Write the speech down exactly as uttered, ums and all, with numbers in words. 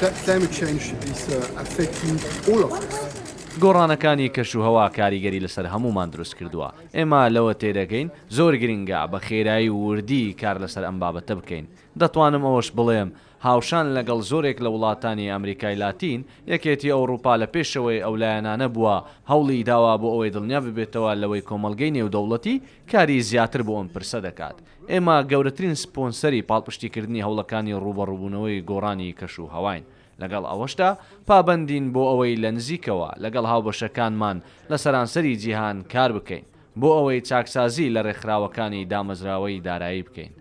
Climate change is uh, affecting all of us. گۆڕانەکانی کەشوهەوا کاریگەری لەسەر هەموومان دروست کردووە. ئێمە لەوە تێدەگەین زۆر گرنگە بە خێرایی و وردی کار لەسەر ئەم بابەتە بکەین. دەتوانم ئەوەش بڵێم هاوشان لەگەڵ زۆرێک لە وڵاتانی ئەمریکای لاتین، یەکێتی ئەوروپا لە پێشەوەی ئەو لایەنانە بووە هەوڵی داوە بۆ ئەوەی دڵنیا ببێتەوە لەوەی کۆمەڵگەی نێودەوڵەتی کاری زیاتر بۆ ئەم پرسە دەکات. ئێمە گەورەترین سپۆنسەری پاڵپشتیکردنی هەوڵەکانی ڕووبەڕووبوونەوەی گۆڕانی کەش و هەواین. لەگەڵ ئەوەشدا پابەندین بۆ ئەوەی لە نزیکەوە لەگەڵ هاوبەشەکانمان لە سەرانسەری جیهان کار بکەین بۆ ئەوەی چاکسازی لە ڕێکخراوەکانی دامەزراوەی دارایی بکەین.